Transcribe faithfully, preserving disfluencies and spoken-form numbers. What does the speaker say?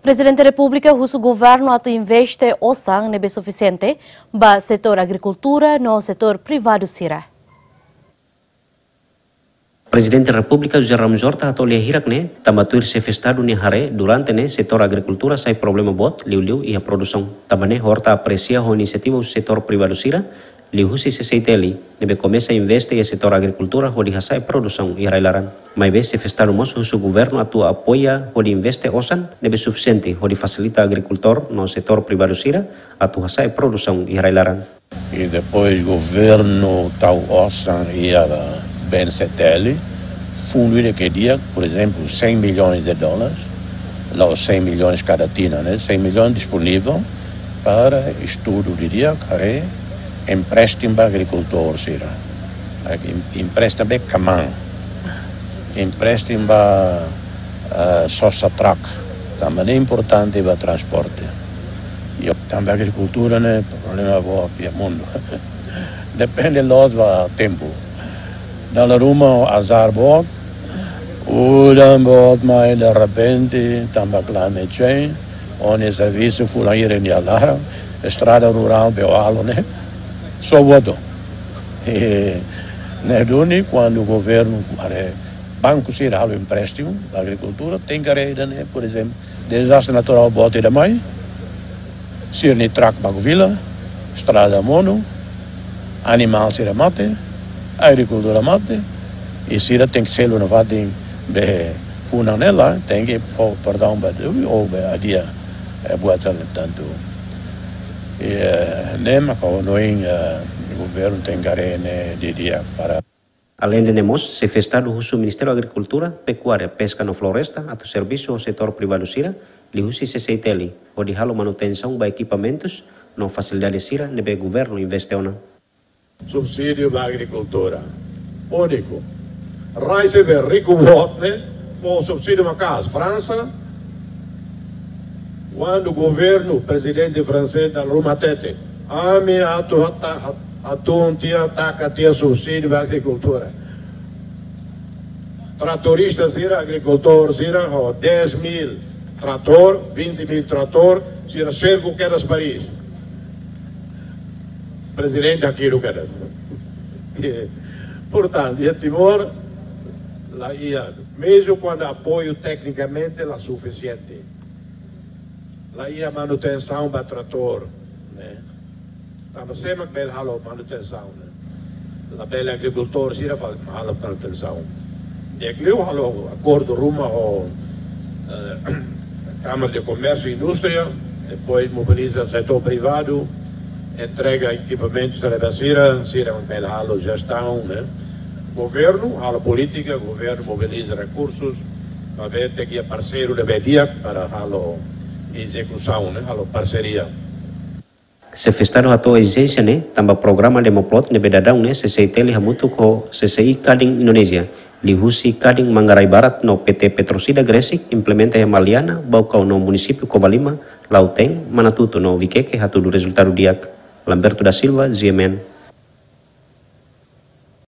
Prezidente Repúblika husu governu atu investe osan ne'ebé sufisiente ba setór agrikultura no setór privadu sira. Prezidente Repúblika José Ramos Horta hato'o lia hirak ne'e tanba tuir Xefe Estadu nia haree durante ne'e setór agrikultura sai problema boot liuliu iha produsaun. Tanba ne'e Horta apresia ho inisiativa husi setór privadu sira liuhusi C C I T L ne'ebé komesa investe iha setór agrikultura hodi hasa'e produsaun iha rai-laran. Maibé Xefe Estadu mós husu governu atu apoia hodi investe osan ne'ebé sufisiente hodi fasilita agrikultór no setór privadu sira atu hasa'e produsaun iha rai-laran. I depois governu tau osan iha B N C T L, fundu ida ke di'ak, por exemplo, cem milhões de dólares, la'ós cem milhões kada tinan, né? Cem milhões disponível para estudu didi'ak, haree empréstimu ba agrikultór sira. Ai, em-, empréstimu ba kaman, empréstimu ba, ah, sosa truck, tanba ne'e importante ba transporte. I tanba agrikultura ne'e problema boot iha mundu. Depende loos ba tempu. Dala ruma azar boot, udan boot mai derrepente, tanba climate change, ó-nia servisu fulan hira nia laran, estrada rurál be ó halo ne'e, só boto. E, ne'e duni kuandu governu, are, banku sira halo empréstimu ba agrikultura, tenke haree ida-ne'e, por exemplo, dezastre naturál boot ida mai, sira-nia truck baku fila, estrada monu, animál sira mate, agrikultura mate, i sira tenke selu nafatin be funan ne'e laran, tenke fó perdaun ba Deus, ou be adia, eh, buat ne'e tantu. I, eh, ne'e mak ha'u hanoin, eh, governu tenke haree ne'e didi'ak para Aleinde ne'e mós, Xefe Estadu husu Ministériu Agrikultura, Pekuária, Peska no Floresta atu servisu ho setór privadu sira, liuhusi C C I T L, hodi halo manutensaun ba ekipamentus no fasilidade sira ne'ebé governu investe ona. Subsídiu ba agrikultura. Úniku. Rai sira be riku boot ne'e, fó subsídiu maka'as. Fransa, kuandu governu, prezidente fransés dala ruma hatete, ami atu hata-, hat-, hatun tiha, taka tiha subsídiu ba agrikultura. Tratorista sira, agrikultór sira, ho dez mil tratór, vinte mil tratór, sira serku kedas Paris. Prezidente haki'ik kedas. Portantu, iha Timor, la iha, mezmu kuandu apoiu teknikamente la sufisiente. La iha manutensaun ba tratór, ne'e. Tanba sé mak bele halo manutensaun, ne'e. Labele agrikultór sira fali halo manutensaun. Di'ak liu halo akordu ruma ho, eh, Kámara de Komérsiu i Indústria, depois mobiliza setór privadu, entrega ekipamentu sira ba sira, sira mak bele halo jestaun, ne'e. Governu halo polítika, governu mobiliza rekursus, maibé tenke iha parseiru ne'ebé di'ak para halo ezekusaun, ne'e, halo parseria. Xefe Estadu hato'o ezijénsia ne'e tanba programa Demoplot ne'ebé daudaun ne'e C C I T L hamutuk ho C C I Kadin Indonézia, liuhusi Kadin Manggarai Barat no P T Petrosida Gresik implementa iha Maliana, Baucau no munisípiu Covalima, Lautém, Manatuto no Viqueque hatudu rezultadu di'ak. Lamberto da Silva, G M N.